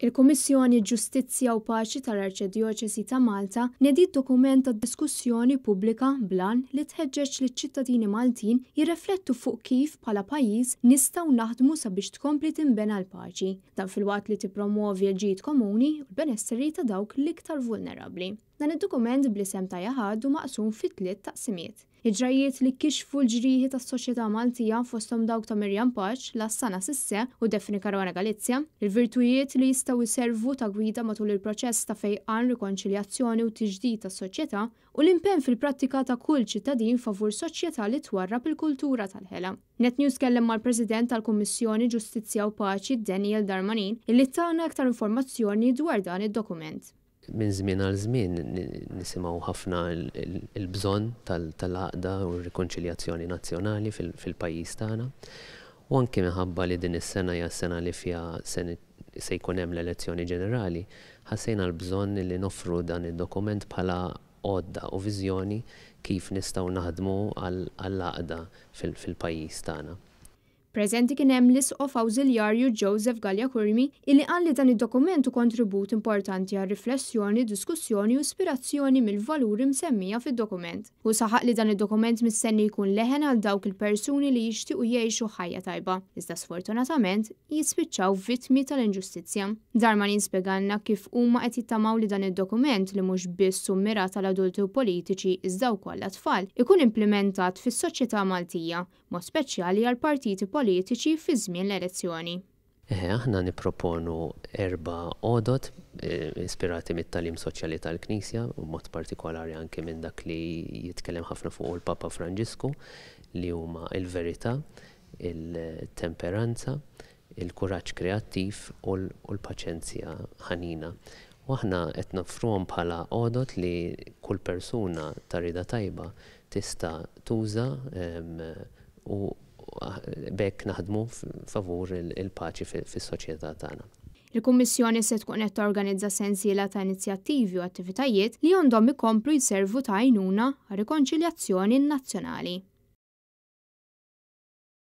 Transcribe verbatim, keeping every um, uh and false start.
Il-Kummissjoni Ġustizzja u Paċi tal-Arċidjoċesi ta' Malta nediet dokument ta' diskussjoni pubblika bl-għan li tħeġġeġ liċ-ċittadini Maltin jirreflettu fuq kif bħala pajjiż nistgħu naħdmu sabiex tkompli tinbena l-paċi. Dan filwaqt li tippromuovi l-ġid komuni u l-benesseri ta' dawk l-iktar vulnerabbli. Dan id-dokument bl-isem ta' Jaħad hu maqsum fi tliet taqsimiet. Il-ġrajiet li kixfu l-ġrieħi tas-soċjetà Maltija, fosthom dawk ta' Miriam Pace, Lassana Cisse u Daphne Caruana Galizia, il-virtujiet li jistgħu jservu ta' gwida matul il-proċess ta' fejqan, rikonċiljazzjoni u tiġdid tas-soċjetà, u l-impenn fil-prattika ta' kull ċittadin favur soċjetà li twarrab il-kultura tal-ħela. Net News kellem mal-President tal-Kummissjoni Ġustizzja u Paċi, Daniel Darmanin, illi tana aktar informazzjoni dwar dan id-dokument. Minn żmien għal żmien nisimgħu ħafna il-bżonn tal-għaqda u r-rikonċiljazzjoni nazzjonali fil-pajjiż tagħna. U anke minħabba li din is-sena hija sena li fiha se jkun hemm l-elezzjoni ġenerali, ħassejna l-bżonn li noffru dan id-dokument bħala għodda u viżjoni kif nistgħu naħdmu għall-għaqda fil-pajjiż tagħna. Preżenti kien hemm l-Isqof Awżiljarju Joseph Galea Curmi, illi qal li dan id-dokument hu kontribut importanti għal riflessjoni, diskussjoni u ispirazzjoni mill-valuri msemmija fid-dokument. U saħaq li dan id-dokument mistenni jkun leħen għal dawk il-persuni li jixtiequ jgħixu ħajja tajba, iżda sfortunatament jispiċċaw vittmi tal-inġustizzja. Darmanin spjegalna kif huma qed jittamaw li dan id-dokument, li mhux biss hu mmirat għal adulti u politiċi iżda wkoll għat-tfal, ikun implementat fis-soċjetà Maltija, mod speċjali għal partiti politiċi fi żmien l-elezzjoni. Eħe, aħna nipproponu erba' għodod eh, ispirati mit-tagħlim soċjali tal-Knisja, u mod partikolari anke minn dak li jitkellem ħafna fuq il-Papa Franġisku, li huma il-verità, il-temperanza, il-kuraġġ kreattiv u l-paċenzja ħanina. U aħna qed noffruhom bħala għodod li kull persuna ta' rida tajba tista' tuża u b'hekk naħdmu favur il-paċi fis-soċjetà tagħna. Il-Kummissjoni se tkun qed torganizza sensiela ta' inizjattivi u attivitajiet li għandhom ikomplu jservu ta' għajnuna għal rikonċiljazzjoni nazzjonali.